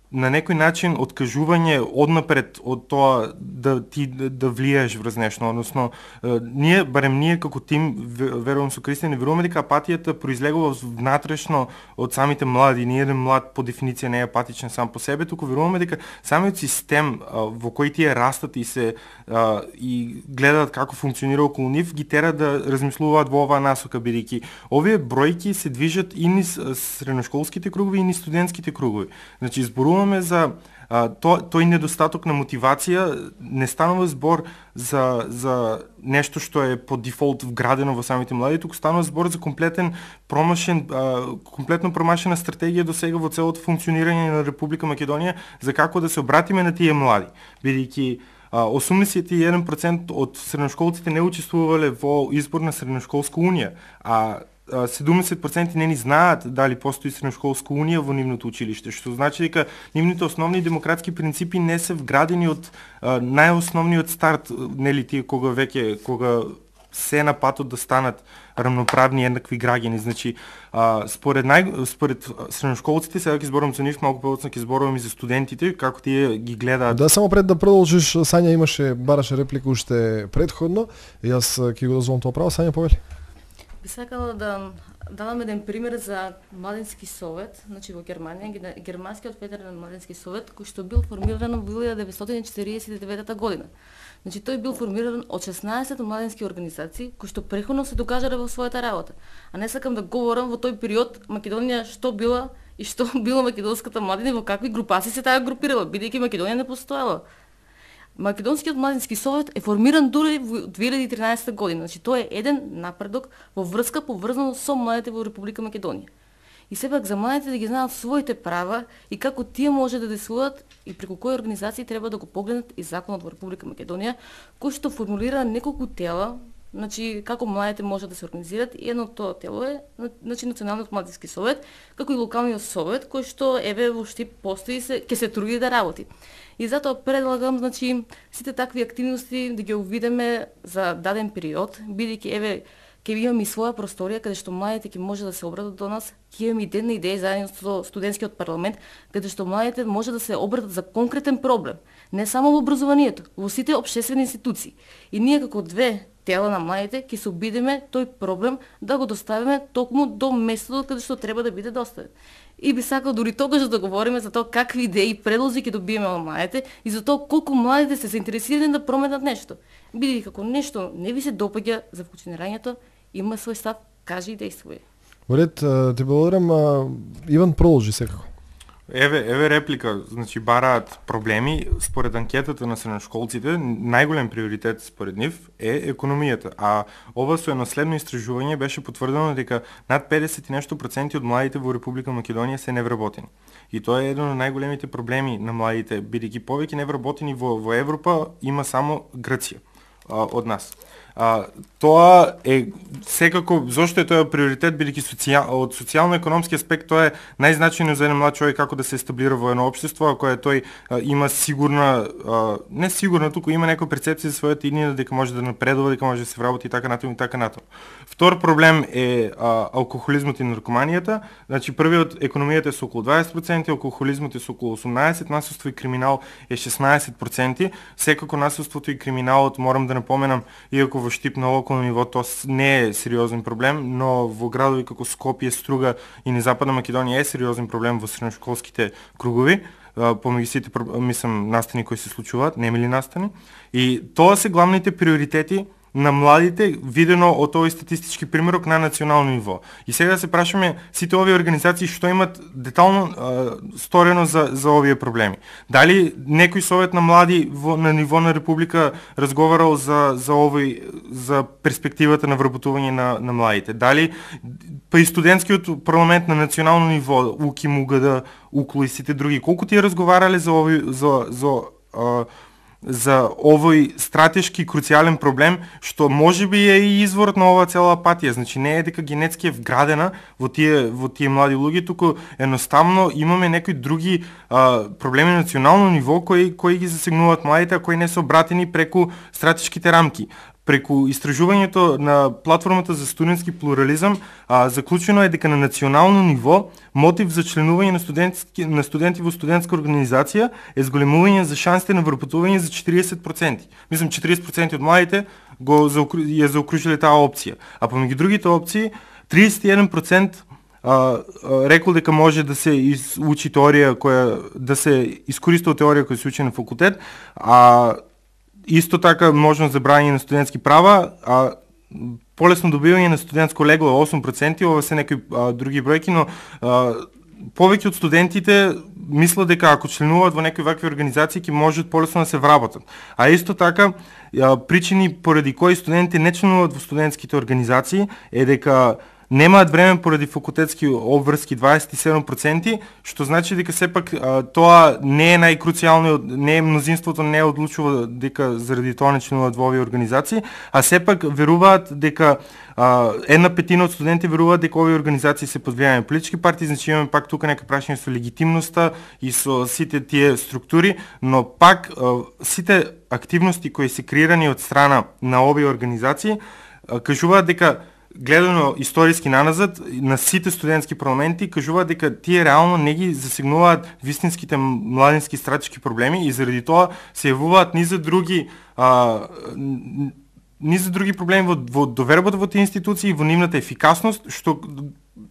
на некој начин откажување однапред од тоа да ти да влијаеш врз нешто, односно барем ние како тим, верувам со Кристијан, веруваме дека апатијата произлегува внатрешно од самите млади. Ние еден млад по дефиниција не е апатичен сам по себе, туку веруваме дека самиот систем во кој тие растат и се и гледаат како функционира околу нив, ги тера да размислуваат во оваа насока, бидејќи овие бројки се движат и низ средношколските кругови и низ студентските кругови. Значи зборуваме за тој недостаток на мотивација, не станува збор за нешто што е по дефолт вградено во самите млади, туку станува збор за комплетно промашена стратегија до сега во целото функционирање на Република Македонија за како да се обратиме на тие млади, бидејќи 81% од средношколците не учествувале во избор на средношколска унија, а 70% не ни знаат дали постои средношколска унија во нивното училиште, што значи дека нивните основни демократски принципи не се вградени од најосновниот старт, нели тие кога се на патот да станат рамноправни еднакви граѓани. Значи, според средношколците, сега ќе зборам за нив, малку повеќе ќе зборувам и за студентите, како тие ги гледаат. Да, само пред да продолжиш, Сања бараше реплика уште предходно, јас ќе го дозволам тоа право. Сања, повели. Би сакала да дадам еден пример за младински совет, значи во Германија, германскиот федерален младински совет, кој што бил формиран во 1949 година. Значи тој бил формиран од 16 младински организации кои што преходно се докажале во својата работа. А не сакам да говорам во тој период Македонија што била и што била македонската младина, во какви групации се таа групирала, бидејќи Македонија не постоела. Македонскиот младински совет е формиран дури во 2013 година. Значи тоа е еден напредок во врска поврзано со младите во Република Македонија. И сепак за младите да ги знаат своите права и како тие може да действуваат и преку кои организации треба да го погледнат и законот во Република Македонија, кој што формулира неколку тела, значи како младите може да се организираат, и едно тоа тело е значи Националниот младински совет, како и локалниот совет кој што еве во Штип постои ќе се труди да работи. И затоа предлагам значи сите такви активности да ги увидиме за даден период, бидејќи еве ќе имаме и своја просторија каде што младите ќе може да се обратат до нас, ќе имаме и ден на идеи заедно со студентскиот парламент, каде што младите може да се обратат за конкретен проблем, не само во образованието, во сите општествени институции. И ние како две тела на младите ќе се обидиме тој проблем да го доставиме токму до местото каде што треба да биде доставен. И би сакал дури тогаш да говориме за тоа какви идеи и предлози ќе добиеме од младите и за тоа колку младите се заинтересирани да променат нешто. Бидејќи како нешто не ви се допаѓа за функционирањето, има свој став, кажи и действуј. Во ред, те благодарам. Иван, продолжи секако. Еве реплика, значи бараат проблеми. Според анкетата на средношколците, најголем приоритет според нив е економијата, а ова со едно следно истражување беше потврдено дека над 50 и нешто проценти од младите во Република Македонија се невработени. И тоа е еден од најголемите проблеми на младите, бидејќи повеќе невработени во Европа има само Грција од нас. Тоа е секако, зошто е тоа приоритет, бидејќи од социјално-економски аспект тоа е најзначајно за еден млад човек како да се естаблира во едно општество, ако тој има сигурна, не сигурна, туку има некоја перцепција за својата иднина дека може да напредува, дека може да се вработи и така натаму и така натаму. Втор проблем е алкохолизмот и наркоманијата. Значи првиот, економијата е со околу 20%, алкохолизмот е со околу 18%, насилство и криминал е 16%. Секако насилството и криминалот, морам да напоменам, иако во Штип на локално ниво тоа не е сериозен проблем, но во градови како Скопје, Струга и на Западна Македонија е сериозен проблем во средношколските кругови, помеѓу сите настани кои се случуваат, немили настани. И тоа се главните приоритети на младите, видено од овој статистички примерок на национално ниво. И сега да се прашаме сите овие организации што имат детално сторено за овие проблеми. Дали некој совет на млади на ниво на Република разговарал за перспективата на вработување на младите? Дали па и студентскиот парламент на национално ниво, УКИМ, УГД, УКЛУ и сите други, колку тие разговарале за за овој стратешки круцијален проблем, што можеби е и изворот на оваа цела апатија. Значи не е дека генетски е вградена во тие млади луѓе, туку едноставно имаме некои други проблеми на национално ниво кои ги засегнуваат младите, а кои не се обратени преку стратешките рамки. Преку истражувањето на платформата за студентски плурализам, заклучено е дека на национално ниво мотив за членување на студенти во студентска организација е зголемување за шансите на вработување за 40%. Мислам 40% од младите ја заокружиле таа опција. А помеѓу другите опции 31% рекол дека може да се учи теорија да се искористува теорија која се учи на факултет, а исто така можност за брање на студентски права, а полесно добивање на студентско легло е 8%, ова се некои други бројки, но повеќе од студентите мислат дека ако членуваат во некои вакви организации ќе можат полесно да се вработат. А исто така причини поради кои студентите не членуваат во студентските организации е дека немаат време поради факултетски обврски 27%, што значи дека сепак тоа не е најкруцијално, не е мнозинството не одлучува дека заради тоа не членуваат во овие организации, а сепак веруваат дека 1/5 од студенти веруваат дека овие организации се под влијание на политички партии, значи имаме пак тука некои прашања со легитимноста и со сите тие структури, но пак сите активности кои се креирани од страна на овие организации кажуваат дека гледано историски наназад, на сите студентски парламенти кажуваат дека тие реално не ги засегнуваат вистинските младински стратешки проблеми и заради тоа се јавуваат ни за други проблеми во довербата во тие институции и во нивната ефикасност, што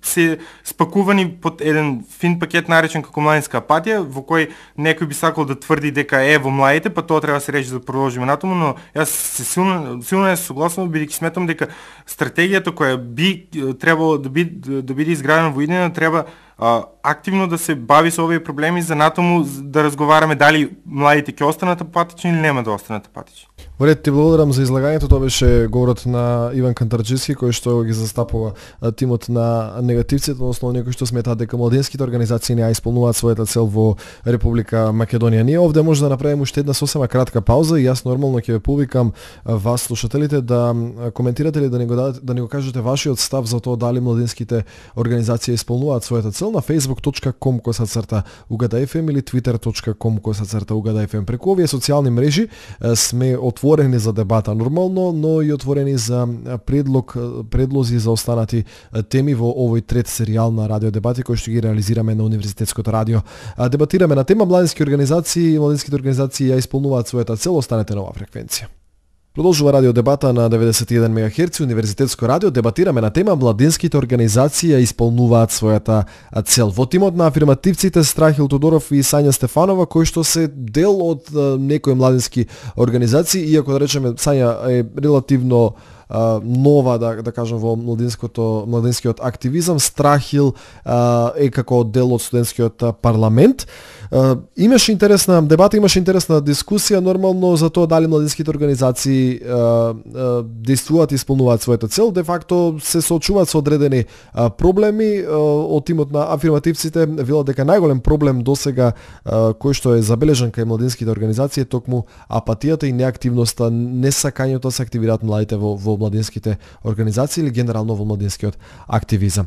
се спакувани под еден фин пакет наречен како младинска апатија, во кој некој би сакал да тврди дека во младите, па тоа треба да се речи за да продолжиме натаму, но јас се силно не согласувам, бидејќи сметам дека стратегијата која би требало да биде изградена во иднина треба активно да се бави со овие проблеми за натаму да разговараме дали младите ќе останат апатични или нема да останат апатични. Во ред, ти благодарам за излагањето. Тоа беше говорот на Иван Кантарџиски, кој што ги застапува тимот на негативците, односно некои што сметаат дека младинските организации не ја исполнуваат својата цел во Република Македонија. Ние овде може да направиме уште една сосема кратка пауза и јас нормално ќе ве повикам вас слушателите да коментирате или да ни го кажете вашиот став за тоа дали младинските организации исполнуваат својата цел на facebook.com/UGADA-FM или twitter.com/UGADA-FM. Преку овие социјални мрежи сме отворени за дебата нормално, но и отворени за предлози за останати теми во овој трет серијал на радио дебати кој што ги реализираме на Универзитетското радио. Дебатираме на тема младински организации, младинските организации ја исполнуваат својата цел, останете на оваа фреквенција. Продолжува радио дебата на 91 МГц Универзитетско радио. Дебатираме на тема младинските организации ја исполнуваат својата цел. Во тимот на афирмативците Страхил Тодоров и Сања Стефанова, кои што се дел од некои младински организации, иако да речеме Сања е релативно нова, да кажам, во младинскиот активизам, Страхил е како дел од студентскиот парламент. Имаше интересна дебата, имаше интересна дискусија нормално за тоа дали младинските организации действуваат и исполнуваат својата цел. Де факто се соочуваат со одредени проблеми. Од тимот на афирмативците велат дека најголем проблем досега кој што е забележан кај младинските организации е токму апатијата и неактивноста, несакањето да се активираат младите во младинските организации или генерално во младинскиот активизам.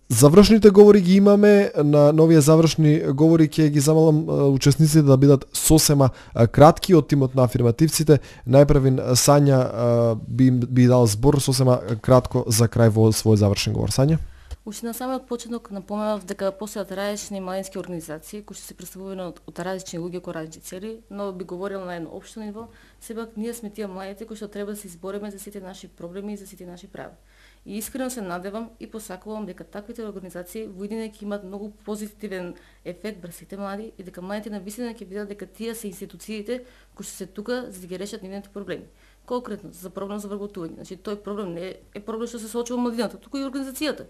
Завршните говори ги имаме. На новија завршни говори ќе ги замалам учесниците да бидат сосема кратки од тимот на афирмативците. Најпрвин Сања би дал збор сосема кратко за крај во свој завршен говор. Сања? Уште на самиот почеток напоменав дека постојат различни младински организации кои се представувани од различни луѓе кои различни цели, но би говорил на едно општо ниво, сепак ние сме тие младите кои што треба да се избориме за сите наши проблеми и за сите наши права. И искрено се надевам и посакувам дека таквите организации во иднина ќе имаат многу позитивен ефект врз сите млади и дека младите навистина ќе видат дека тие се институциите кои што се тука за да ги решат нивните проблеми. Конкретно за проблем за вработување. Значи тој проблем не е проблем што се соочува младината, туку и организацијата.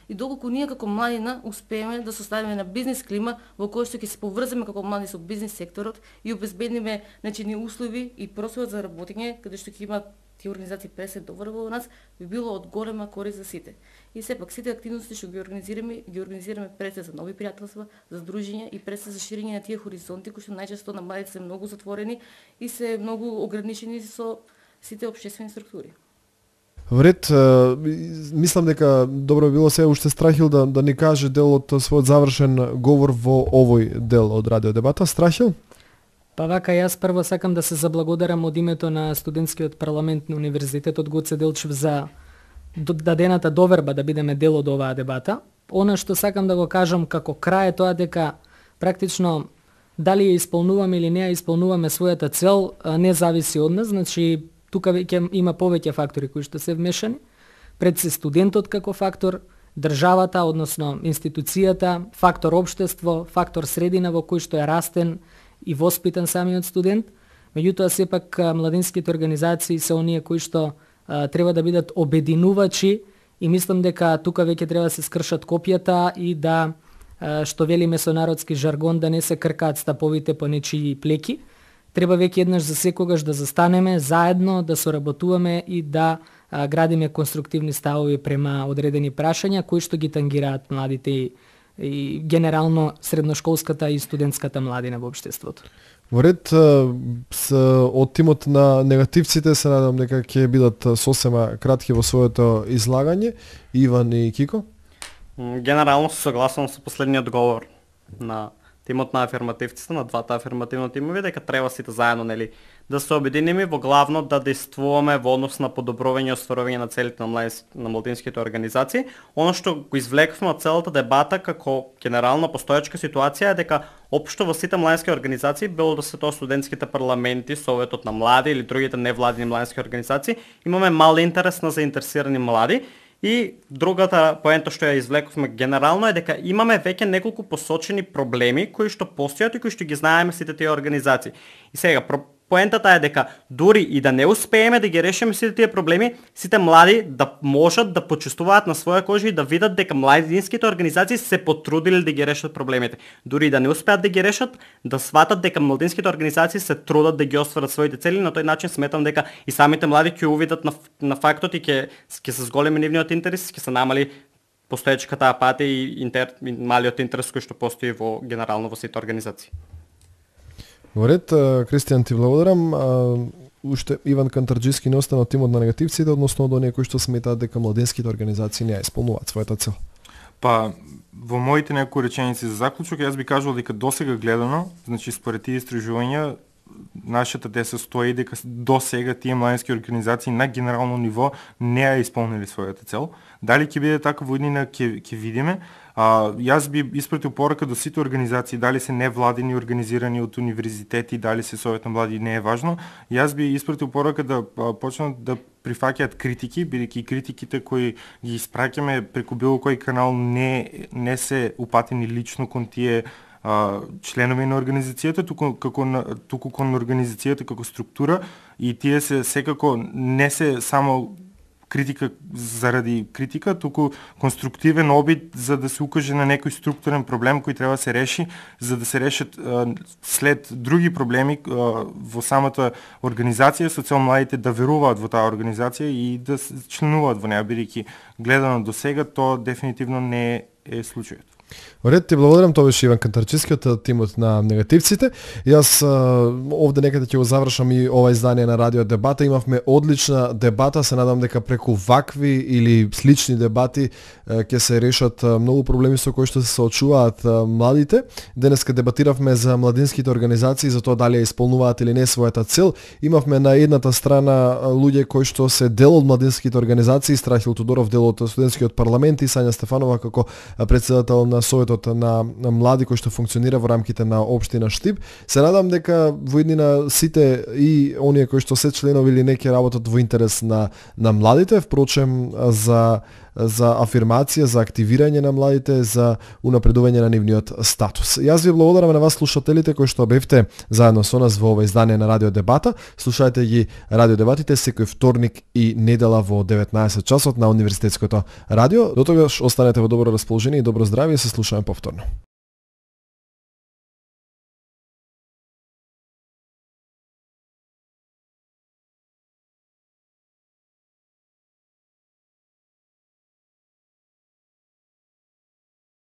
и доколку ние како младина успееме да составиме на бизнис клима во која што ќе се поврземе како млади со бизнис секторот и обезбедиме ни услови и простор за работење каде што ќе има тие организации пресед добро во нас, би било од голема корист за сите. И сепак сите активности што ги организираме пресед за нови пријателства, за здружења и пресед за ширење на тие хоризонти кои што најчесто на младите се многу затворени и се многу ограничени со сите општествени структури. Вред, мислам дека добро било се уште Страхил да ни каже дел од својот завршен говор во овој дел од радио дебата. Страхил? Па вака, јас прво сакам да се заблагодарам од името на студентскиот парламент на Универзитетот Гоце Делчев за дадената доверба да бидеме дел од оваа дебата. Она што сакам да го кажам како крај е тоа дека практично дали ја исполнуваме или не ја исполнуваме својата цел не зависи од нас, значи тука веќе има повеќе фактори кои што се вмешани. Пред се студентот како фактор, државата, односно институцијата, фактор општество, фактор средина во кој што е растен и воспитан самиот студент. Меѓутоа сепак младинските организации се оние кои што треба да бидат обединувачи и мислам дека тука веќе треба да се скршат копијата и да, што велиме со народски жаргон, да не се кркаат стаповите по нечии плеки. Треба веќе еднаш за секогаш да застанеме заедно, да соработуваме и да градиме конструктивни ставови према одредени прашања кои што ги тангираат младите и генерално средношколската и студентската младина во општеството. Во ред, од тимот на негативците се надам дека ќе бидат сосема кратки во своето излагање. Иван и Кико? Генерално се согласувам со последниот говор на тимот на афирмативците, на двата афирмативни тимови, дека треба сите заедно да се обединиме во главно да действуваме во однос на подобрување и остварување на целите на младинските организации. Оно што го извлековме од целата дебата како генерална постоечка ситуација е дека општо во сите младински организации, било да се тоа студентските парламенти, Советот на млади или другите невладини младински организации, имаме мал интерес на заинтересирани млади. И другата поента што ја извлековме генерално е дека имаме веќе неколку посочени проблеми кои што постојат и кои што ги знаеме сите тие организации. И сега поентата е дека дури и да не успееме да ги решиме сите тие проблеми, сите млади да можат да почувствуваат на своја кожа и да видат дека младинските организации се потрудиле да ги решат проблемите. Дури и да не успеат да ги решат, да сватат дека младинските организации се трудат да ги остварат своите цели, на тој начин сметам дека и самите млади ќе увидат на фактот и ќе се зголеми нивниот интерес, ќе се намали постоечката апатија и малиот интерес кој што постои во генерално во сите организации. Во ред, Кристијан, ти благодарам. Уште Иван Кантарџиски не остана од тимот на негативците, односно од оние кои што сметаат дека младинските организации не ја исполнуваат својата цел. Па, во моите некои реченици за заклучок, јас би кажал дека досега гледано, значи според тие истражувања, нашата теза стои дека досега тие младински организации на генерално ниво не ја исполнили својата цел. Дали ќе биде така во иднина ќе видиме. Јас би испратил порака до сите организации, дали се невладини организирани од универзитети, дали се Совет на млади, не е важно. Јас би испратил порака да почнат да прифаќаат критики, бидејќи критиките кои ги испраќаме преку било кој канал не се упатени лично кон тие членови на организацијата, туку кон организацијата како структура, и тие се секако не се само критика заради критика, туку конструктивен обид за да се укаже на некој структурен проблем кој треба да се реши, за да се решат след други проблеми во самата организација, со цел младите да веруваат во таа организација и да членуваат во неа, бидејќи гледано до сега тоа дефинитивно не е случајот. Ред, ти благодарам, тоа беше Иван Кантарџиски од тимот на негативците. Јас овде некаде ќе го завршам и ова издание на Радио Дебата. Имавме одлична дебата, се надам дека преку вакви или слични дебати ќе се решат многу проблеми со кои што се соочуваат младите. Денеска дебатиравме за младинските организации, за тоа дали ја исполнуваат или не својата цел. Имавме на едната страна луѓе кои што се дел од младинските организации, Страхил Тодоров дел од студентскиот парламент и Сања Стефанова како претседател на Советот на млади кој што функционира во рамките на општина Штип. Се надам дека во иднина сите и оние кои што се членови или не ќе работат во интерес на младите. Впрочем, за за афирмација, за активирање на младите, за унапредување на нивниот статус. Јас ви благодарам на вас слушателите кои што бевте заедно со нас во ова издание на Радио Дебата. Слушајте ги Радио Дебатите секој вторник и недела во 19 часот на Универзитетското радио. До тогаш останете во добро расположение и добро здравје, се слушаме повторно.